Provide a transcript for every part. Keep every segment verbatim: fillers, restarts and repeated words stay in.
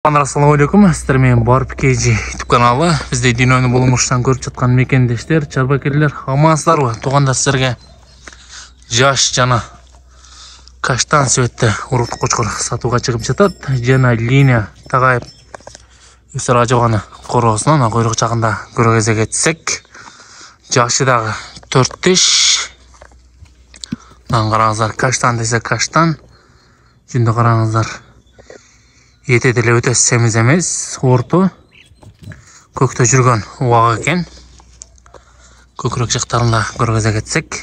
Assalamu alaikum. Sizlar men Barb Kg YouTube kanалы. Bizde Dino'nu bulmuştan көрүп жаткан мекендештер, чарбакерлер, амансыздарбы? Тугандар, силерге жаш жана каштан светте урут кочкор сатууга чыгып жатат. Жана линия тагайып өсөр ажабаны короосунан койрок жагында көрө кезек этсек, жашы дагы төрт тиш. Мына караңыздар, каштан десе каштан. Жүндө караңыздар. Ете деле өтө семиз эмес, орто. Көктө жүргөн убак экен. Көкүрөк жактарында көрө кезек этсек.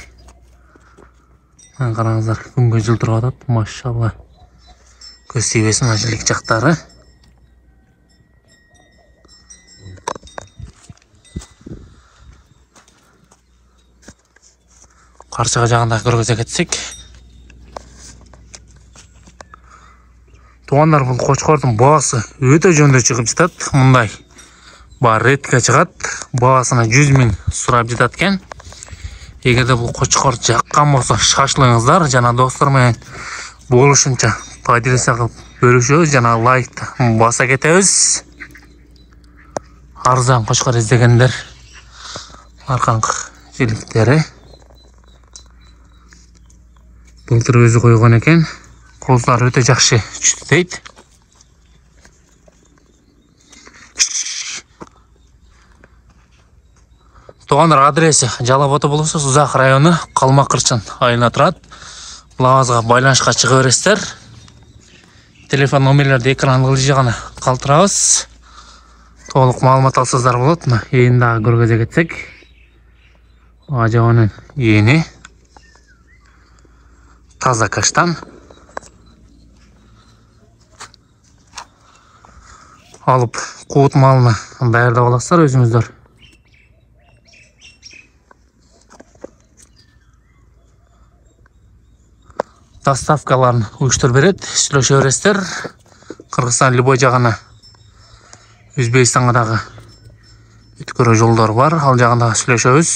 Мына караңыздар, күнгө жылтырап атат, машалла. Көз тийбесин ажылык жактары. Карчыга жагында көрө кезек этсек. Тугандар, бул кочкордун баасы өтө жөндөй чыгып жатат. Мындай бар ретке чыгат. Баасына жүз миң сурап жатат экен. Эгерде бул кочкор жаккан болсо, шашылыңыздар жана достор менен болушунча поделиться кылып бөлүшөбүз жана лайкты баса кетебиз. Арзан кочкор издегендер аркаңкы жиликтери. Былтыр өзү койгон экен. Колдар өтө жакшы түштү дейт. Тугандар, адреси Жалал Ата болсо Сузак району, Калмакырчын айылына турат. Булагыбызга байланышка чыга бересиздер. Телефон номерлерди экрандын ылдый жагына калтырабыз. Толук маалымат алсаңыздар болот. Мына ээн дагы көрө кезек этсек. Ажабанын эени. Таза каштан. Алып куут малына даярдап аласыздар өзүңүздөр. Доставкаларын уюштуруп берет, сүйлөшө бересиздер. Кыргызстан любой жагына, Өзбекстанга дагы өткөрүү жолдор бар, ал жагында сүйлөшөбүз.